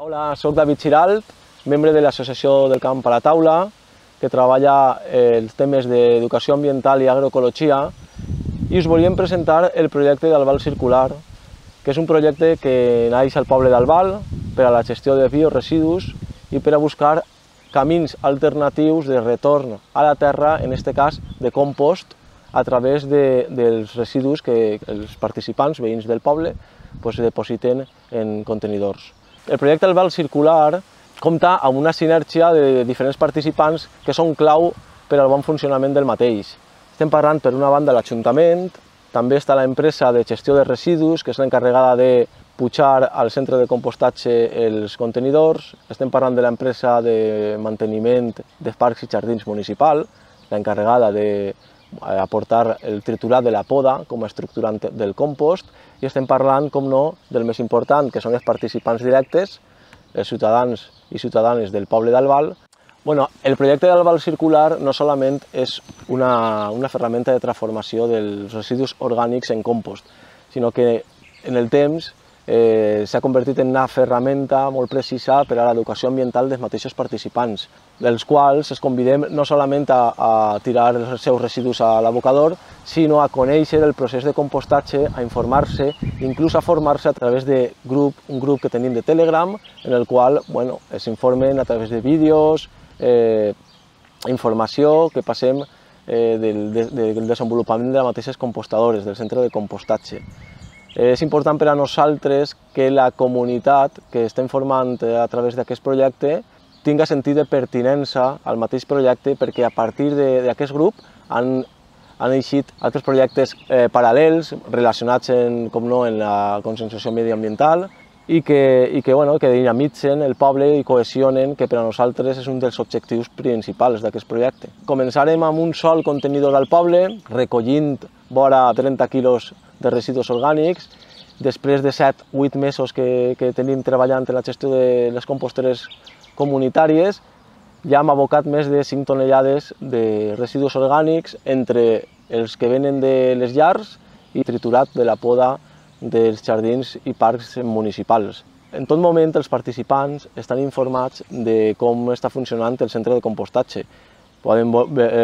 Hola, soc David Giralt, membre de l'Associació del Camp a la Taula, que treballa els temes d'educació ambiental i agroecologia, i us volíem presentar el projecte d'Albal Circular, que és un projecte que naix al poble d'Albal per a la gestió de bioresidus i per a buscar camins alternatius de retorn a la terra, en aquest cas de compost, a través dels residus que els participants, veïns del poble, depositen en contenidors. El projecte Albal Circular compta amb una sinergia de diferents participants que són clau per al bon funcionament del mateix. Estem parlant, per una banda, l'Ajuntament, també està l'empresa de gestió de residus, que és l'encarregada de pujar al centre de compostatge els contenidors. Estem parlant de l'empresa de manteniment de parcs i jardins municipal, l'encarregada d'aportar el triturat de la poda com a estructurant del compost, i estem parlant, com no, del més important, que són els participants directes, els ciutadans i ciutadanes del poble d'Albal. El projecte d'Albal Circular no solament és una ferramenta de transformació dels residus orgànics en compost, sinó que en el temps s'ha convertit en una ferramenta molt precisa per a l'educació ambiental dels mateixos participants, dels quals es convidem no solament a tirar els seus residus a l'abocador, sinó a conèixer el procés de compostatge, a informar-se, inclús a formar-se a través d'un grup que tenim de Telegram, en el qual s'informen a través de vídeos, informació que passem del desenvolupament de les mateixes compostadores, del centre de compostatge. És important per a nosaltres que la comunitat que estem formant a través d'aquest projecte tinga sentit de pertinença al mateix projecte, perquè a partir d'aquest grup han eixit altres projectes paral·lels relacionats com no, en la conscienciació mediambiental i que dinamitzen el poble i cohesionen, que per a nosaltres és un dels objectius principals d'aquest projecte. Començarem amb un sol contenidor al poble, recollint vora 30 quilos de residus orgànics. Després de 7-8 mesos que tenim treballant en la gestió de les composteres comunitàries, ja hem abocat més de 5 tonelades de residus orgànics entre els que venen de les llars i triturat de la poda dels jardins i parcs municipals. En tot moment els participants estan informats de com està funcionant el centre de compostatge. Poden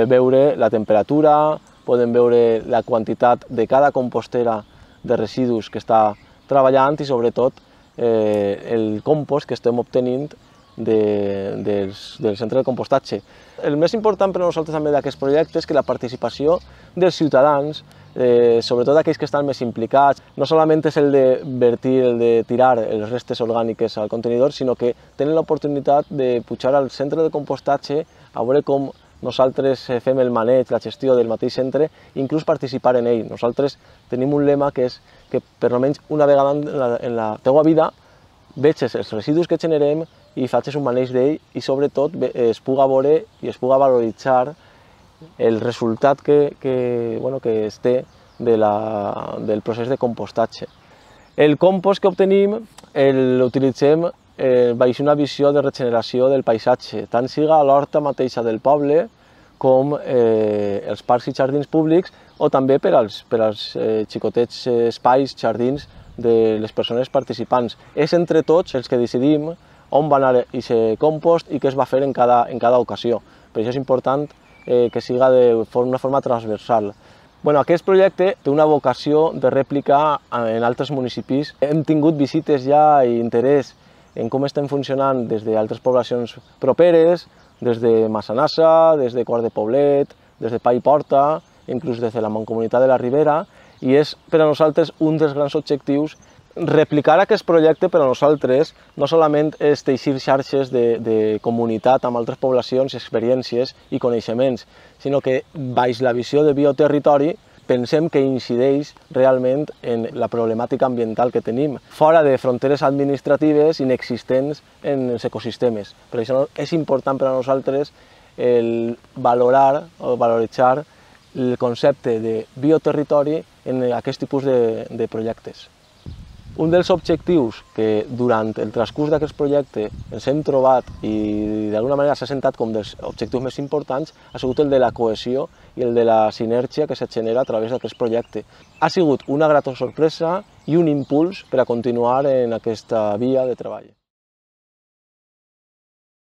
veure la temperatura, poden veure la quantitat de cada compostera de residus que està treballant i, sobretot, el compost que estem obtenint del centre de compostatge. El més important per a nosaltres també d'aquest projecte és que la participació dels ciutadans, sobretot aquells que estan més implicats, no solament és el de vertir, el de tirar les restes orgàniques al contenidor, sinó que tenen l'oportunitat de pujar al centre de compostatge a veure com nosaltres fem el maneig, la gestió del mateix centre, i inclús participar en ell. Nosaltres tenim un lema que és que per almenys una vegada en la teua vida veges els residus que generem i facis un maneig d'ell i sobretot es puga veure i es puga valoritzar el resultat que es té del procés de compostatge. El compost que obtenim l'utilitzem baix una visió de regeneració del paisatge, tant siga a l'horta mateixa del poble com els parcs i jardins públics, o també per als xicotets espais, jardins de les persones participants. És entre tots els que decidim on va anar aquest compost i què es va fer en cada ocasió. Per això és important que siga d'una forma transversal. Aquest projecte té una vocació de rèplica en altres municipis. Hem tingut visites ja i interès en com estem funcionant des d'altres poblacions properes, des de Massanassa, des de Quart de Poblet, des de Pa i Porta, inclús des de la Mancomunitat de la Ribera, i és per a nosaltres un dels grans objectius. Replicar aquest projecte per a nosaltres no solament és teixir xarxes de comunitat amb altres poblacions, experiències i coneixements, sinó que baix la visió de bioterritori pensem que incideix realment en la problemàtica ambiental que tenim, fora de fronteres administratives inexistents en els ecosistemes. Per això és important per a nosaltres valorar o valoritzar el concepte de bioterritori en aquest tipus de projectes. Un dels objectius que durant el transcurs d'aquest projecte ens hem trobat i d'alguna manera s'ha sentat com dels objectius més importants ha sigut el de la cohesió i el de la sinergia que se genera a través d'aquest projecte. Ha sigut una grata sorpresa i un impuls per a continuar en aquesta via de treball.